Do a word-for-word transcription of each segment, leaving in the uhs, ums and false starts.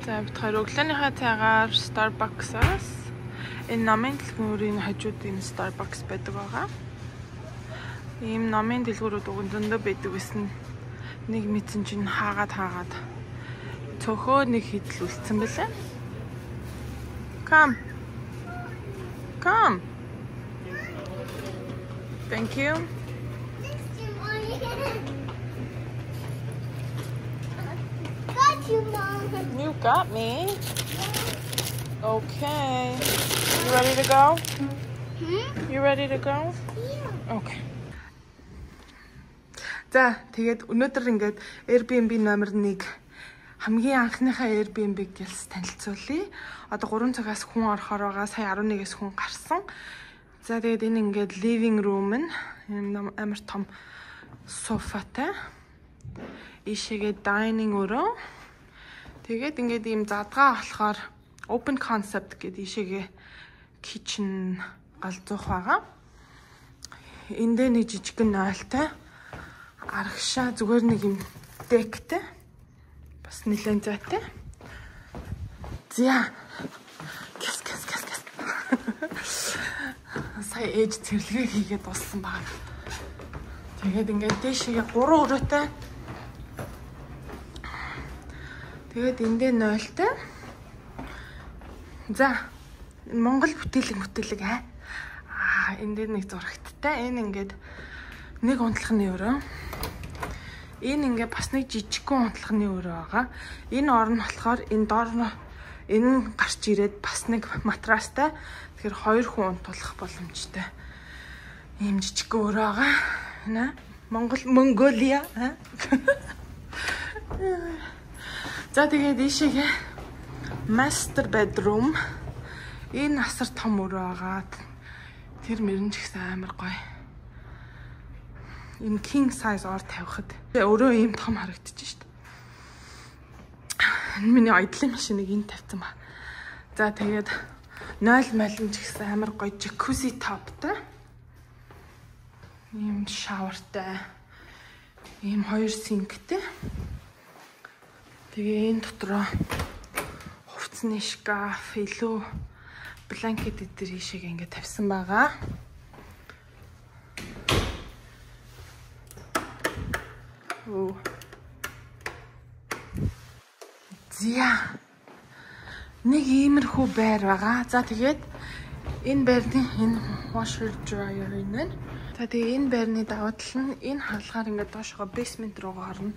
За бид хоёр өглөөнийхөө цайгаар Starbucks-аас энэ номын дэлгүүрийн хажууд энэ Starbucks байдаг байгаа. Ийм номын дэлгүүрүүд өгөндөө байдаг гэсэн нэг мэдсэн чинь хаагаад хаагаад цөхөө нэг хидлүүлсэн бэлээ. Come. Come. Thank you. You got me. Okay. You ready to go? Hmm? You ready to go? Yeah. Okay. За, тэгээд өнөөдөр ингээд Airbnb номер нэг хамгийн анхныхаа Airbnb гэлс танилцуулъя. Одоо гурван цагаас хүн орохоор байгаа. Сая арван нэгээс хүн гарсан. За, тэгээд энэ ингээд living room нь амар том софатай. Ишээгээ dining өрөө. Тэгээд ингээд ийм задгаа болохоор open concept гэдэг ишээгээ kitchen галзуух байгаа. Эндээ нэг жижигхэн нойлтой. Арагшаа зүгээр нэг юм дектэй. Бас нэлээд зайтай. За. Гэс гэс гэс гэс. Сая ээж цэвэрлэгээ хийгээд дууссан баг. Тэгээд ингээд дэшегээ гурван өрөөтэй. Тэгээд эндээ нойлтой. За. Монгол бүтээлэг бүтээлэг аа. Аа, эндээ нэг зурагттай. Энэ ингээд нэг унтлагын өрөө. Энэ ингээд бас нэг жижигхэн унтлагын өрөө байгаа. Энэ орн болохоор энэ доор энэ гарч ирээд бас нэг матрастай. Тэгэхээр хоёр хүн унтуулах боломжтой. Ийм жижигхэн өрөө байгаа. Нэ? Монгол Монголиа. За тэгээд ийшээгээ master bedroom. Энэ асар том өрөө байгаа. Тэр мөрөн ч гэсэн амар гоё. Ийм king size ор тавихад өрөө ийм том харагдчих шүү дээ. Энэ миний ойдлын машиныг энэ тавьсан ба. За тэгээд нойл малин ч гэсэн амар гоё jacuzzi topтай. Ийм шаwarтай. Ийм хоёр синктэй. Тэгээ энэ дотроо хувцсны шкаф, илүү бланкет эдэр ишиг ингээд тавьсан байгаа. Оо. Зя. Нэг иймэрхүү байр байгаа. За тэгээд энэ байрны энэ washer dryer энэ. За тэгээ энэ байрны даваа тал нь энэ хаалгаар ингээд доошоо basement руугаа орно.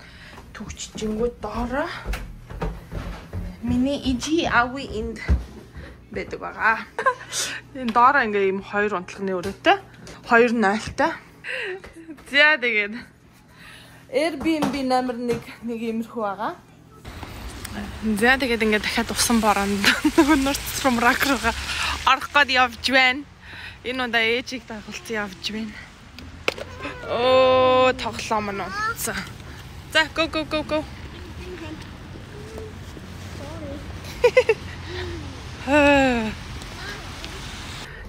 Түгчжингүүд доороо миний ижи ави энд байдаг байгаа. Энэ доороо ингээ ийм хоёр унтлагын өрөөтэй, хоёр нойлтой. За тэгээд Airbnb номер нэг нэг иймэрхүү байгаа. За тэгээд ингээ дахиад усан бороонд North from Rock руугаа орох гээд явж байна. Энэ удаа ээжийг дагуулсан явж байна. Оо, тоглоом нь унтсан. За, go go go go.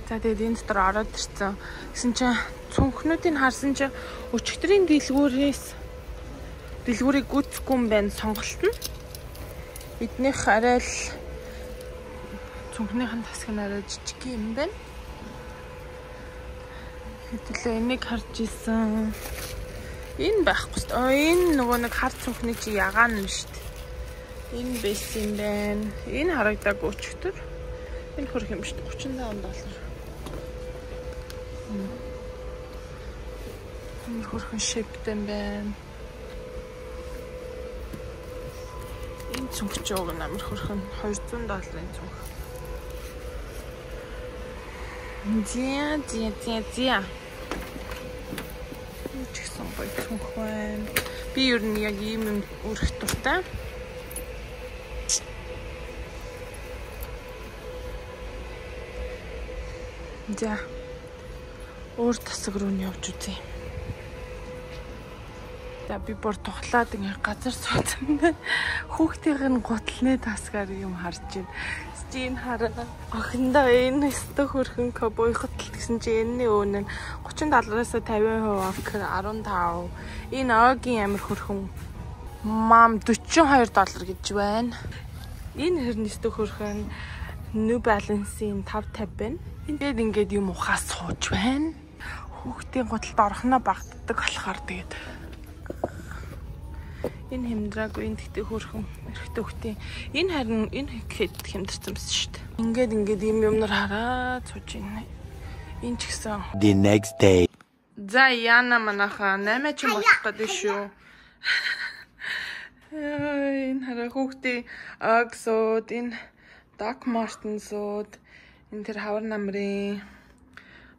За тэгээд энэ дотор ороод ирсэн. Гэсэн чинь цүнхнүүдийг харсан чинь өчигдрийн дэлгүүрээс дэлгүүрийг гүйцэхгүй юм байна сонголт нь. Эднийх арай л цүнхнийхэн тасг нь арай жижиг юм байна. Хэвлээ энийг харж исэн. Энэ байхгүй шүү дээ. Энэ нөгөө нэг хар цүнхний чи ягаан нь шүү дээ. Энэ бэс юм байна. Энэ харагдаагүй өчтөр. Энэ хөрх юм шүү дээ. гучин доллар. Энэ хөрхөн шиптэй юм байна. Энэ цүнх ч уг амар хөрхөн двести долларын цүнх. Зя зя зя зя. Чигсэн гоё цүнх байна. Би ер нь яг ийм өрх дуртай. За. Өөр тасаг руу нь явж үзье. За би бүр тухлаад ингээ газар суудсан. Хүүхдийн нь гутлны тасгаар юм харж байна. Стин хараа. Охиндоо энэ өстө хөрхөн кобойхот гэсэн чи энэний өөнө нь гучин доллараас тавин хувь оф арван тав. Энэ огийн амир хөрхөн мам дөрвөн хоёр доллар гэж байна. Энэ хэрнэстэ хөрхөн New Balance-ийн five fifty байна. Ингээд ингээд юм ухаас сууж байна. Хүүхдийн гуталд орхоноо багтдаг болохоор тэгээд энэ хэмдраагүй энэ тэгтээ хөрхөн эрэгтэй хүүхдийн энэ харин энэ хэд хэмдэрсэн юмс шүү дээ. Ингээд ингээд юм юмнаар хараад сууж байна. Энэ ч гэсэн The next day. За яна манаха наймаа ч болох гэдэг шүү. Энэ хараа хүүхдийн Uggs-ууд, энэ Doc Martens-ууд, энэ тэр хавар намрын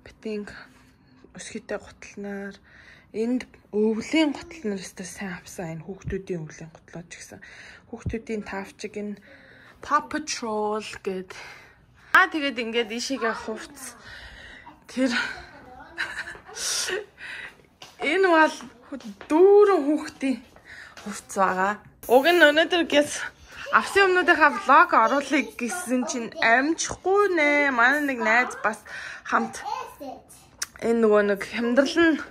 битинг өсгийтэй гутлнаар, энд өвлийн гутлнаар өстой сайн авсан энэ хүүхдүүдийн өвлийн гутлууд ч гэсэн. Хүүхдүүдийн тавчиг энэ Paw Patrol гэд. Аа тэгээд ингээд ишигээ хувц. Тэр энэ бол дүүрэн хүүхдийн хувц байгаа. Уг нь өнөөдөр гэс авсан юмнуудынхаа влог оруулах гэсэн чинь амжихгүй нэ. Манай нэг найз бас хамт энэ нөгөө нэг хямдрал нь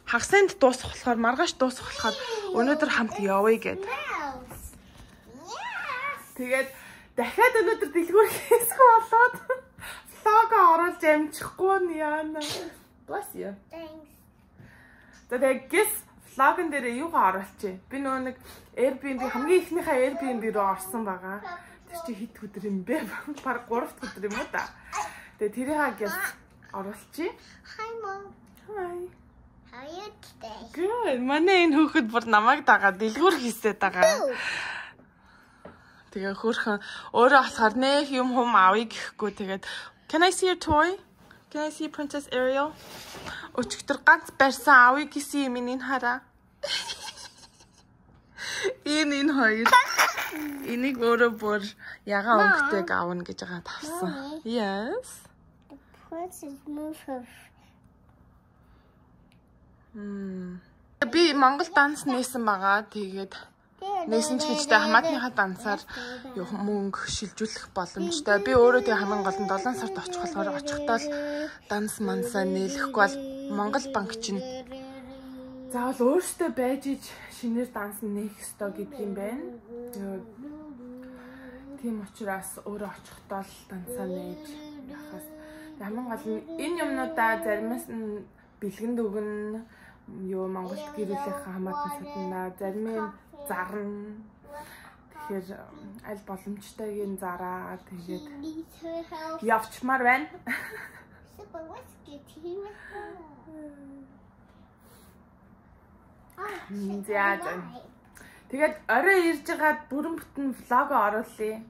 хагасанд дуусах болохоор маргааш дуусах болохоор өнөөдөр хамт явъя гэд. Тэгээд дахиад өнөөдөр дэлгүүр хийсэх болоод влог оруулж амжихгүй нь яана. Bless you. Thanks. Тэгээд гэс влогон дээр юугаа оруулчих. Би нөгөө нэг Airbnb хамгийн ихнийхээ Airbnb руу орсон байгаа. Тэр чи хэд өдөр юм бэ? Бараг гурав дахь өдөр юм уу та. Тэгээд тэрийг гэс оруулчих. Hi mom. Hi. How are you today? Good. Манай энэ хүүхэд бүр намайг дагаад дэлгүүр хийсээд байгаа. Тэгээ хөөрхөн өөрөө болохоор нэх юм хүм авъя гэхгүй тэгээд Can I see your toy? Can I see Princess Ariel? Өчигдөр ганц барьсан авъя гэсэн юм энэ хараа. Энэ энэ хоёр. Энийг өөрөө бүр ягаан өнгөтэйг аавна гэж байгаа тавсан. Yes. The princess moved her. Мм. Би Монгол данс нээсэн байгаа. Тэгээд нээсэн ч гэжтэй хамаатныхаа дансаар мөнгө шилжүүлэх боломжтой. Би өөрөө тэг хамгийн гол нь долоон сард очих болохоор очихдоо л данс мансаа нээлэхгүй бол Монгол банк чинь заавал өөртөө байж иж шинээр данс нээх ёстой гэдэг юм байна. Тийм учраас өөрөө очихдоо л дансаа нээж яхаас хамгийн гол нь энэ юмнуудаа заримаас нь бэлгэнд өгнө. Юу Монголд гэрүүлэхээ хамаатан саднаа зарим нь зарна. Тэгэхээр аль боломжтойг нь зараа тэгээд явчмаар байна. Тэгээд орой ирж байгаад бүрэн бүтэн влог оруулъя.